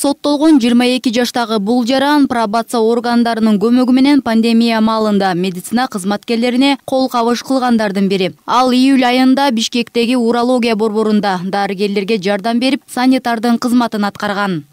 Соттолгон 22 жаштагы бул жаран пробация органдарынын көмөгү менен пандемия маалында медицина кызматкерлерине кол кабыш кылгандардын бири. Ал июль айында Бишкектеги урология борборунда дарыгерлерге жардам берип, санитардын кызматын аткарган.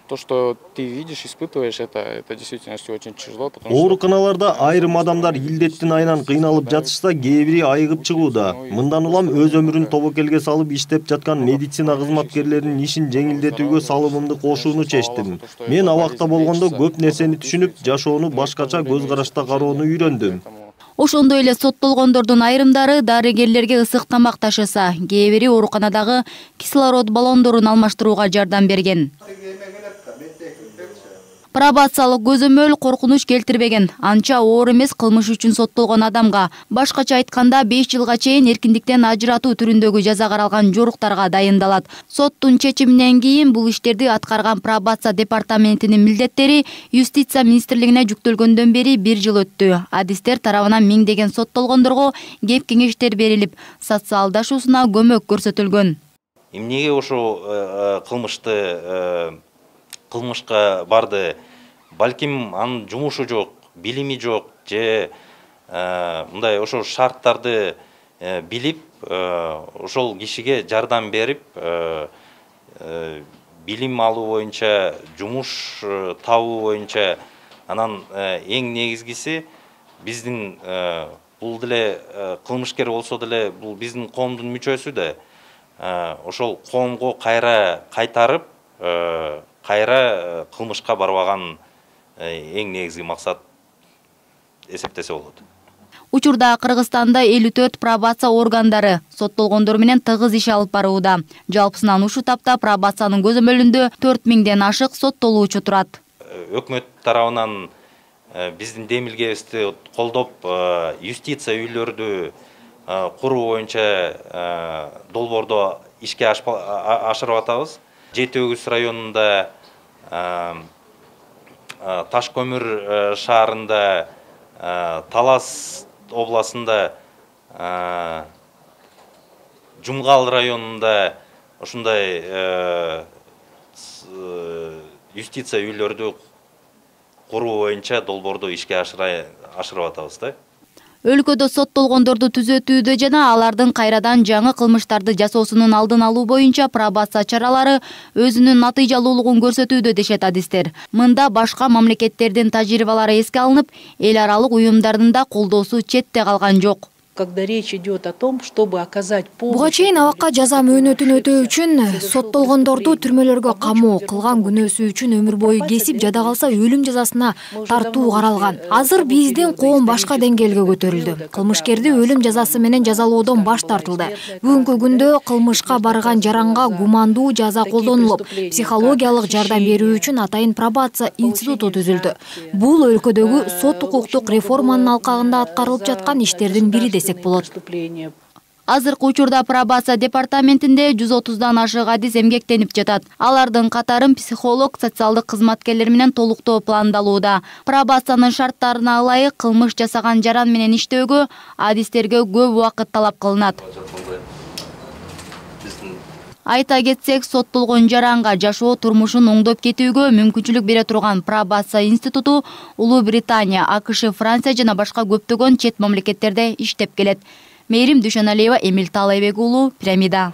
То, что ты видишь, испытываешь, это действительно очень тяжело. Ооруканаларда айрым адамдар илдеттин айынан кыйналып жатышса, кээ бири айыгып чыгууда. Мындан улам өз өмүрүн тобокелге салып иштеп жаткан медицина кызматкерлеринин ишин жеңилдетүүгө салымымды кошууну чечтим. Мен абакта болгондо көп нерсени түшүнүп, жашоону башкача көз карашта кароону үйрөндүм. Ошондой эле соттолгондордун айрымдары дарыгерлерге ысык тамак ташыса, кээ бири ооруканадагы кислород баллондорун алмаштырууга жардам берген. Пробациялык көзөмөл коркунуч келтирбеген. Анча оор эмес кылмыш үчүн соттолгон адамга, башкача айтканда 5 жылга чейин эркиндиктен ажыратуу түрүндөгү жаза каралган жоруктарга дайындалат. Соттун чечиминен кийин бул иштерди аткарган пробация департаментинин милдеттери Юстиция министрлигине жүктөлгөндөн бери 1 жыл өттү. Адистер тарабынан миңдеген соттолгондорго кеп кеңештер берилип, социалдашуусуна көмөк көрсөтүлгөн. Эмнеге ошо кылмышка барды? Балким анын жумушу жок, билими жок, же мындай ошол шарттарды билип, ошол кишиге жардам берип, билим алуу боюнча, жумуш табуу боюнча, анан эң негизгиси биздин бул деле кылмышкер болсо деле бул биздин коомдун мүчөсү да, ошол коомго кайра кайтарып, кайра кылмышка барбаган эң негизги максат эсептесе болот. Учурда Кыргызстанда 54 пробация органдары соттолгондор менен тыгыз иш алып барууда. Жалпысынан ушу тапта пробациянын көзөмөлүндө 4000ден ашык соттолуучу турат. Өкмөт тарабынан биздин демилгебизди колдоп, юстиция үйлөрдү куруу боюнча долбоордо ишке ашырып атабыз. Жети-Өгүз районунда, Таш көмүр шаарында, Талас областында, Жумгал районунда ушундай юстиция үйлөрдү куруу боюнча долбоорду ишке ашырып атабыз да. Өлкөдө соттолгондорду түзөтүүдө жана алардын кайрадан жаңы кылмыштарды жасоосунун алдын алуу боюнча пробация чаралары өзүнүн натыйжалуулугун көрсөтүүдө дешет адистер. Мында башка мамлекеттердин тажрыйбалары эске алынып, эл аралык уюмдардын да колдоосу четте калган жок. Когда речь идет о том, чтобы оказать помощь... Буга чейин абакка жаза мөөнөтүн өтөө үчүн соттолгондорду түрмөлөргө камоо, кылган күнөөсү үчүн өмүр бою кесип, жада калса өлүм жазасына тартуу каралган. Азыр биздин коом башка деңгээлге көтөрүлдү. Кылмышкерди өлүм жазасы менен жазалоодон баш тартылды. Бүгүнкү күндө кылмышка барган жаранга гумандуу жаза колдонулуп, психологиялык жардам берүү үчүн атайын пробация институту түзүлдү. Бул өлкөдөгү сот укуктук реформанын алкагында аткарылып жаткан иштердин бири десек болот. Азыркы учурда пробация департаментинде 130дан ашык адис эмгектенип жатат. Алардын катарын психолог, социалдык кызматкерлер менен толуктоо пландалууда. Пробациянын шарттарына ылайык кылмыш жасаган жаран менен иштөөгө адистерге көп убакыт талап кылынат. Айта кетсек, соттолгон жаранга жашоо турмушун оңдоп кетүүгө мүмкүнчүлүк бере турган пробация институту Улуу Британия, АКШ, Франция жана башка көптөгөн чет мамлекеттерде иштеп келет. Мээрим Дүйшөналиева, Эмил Таалайбек уулу, Пирамида.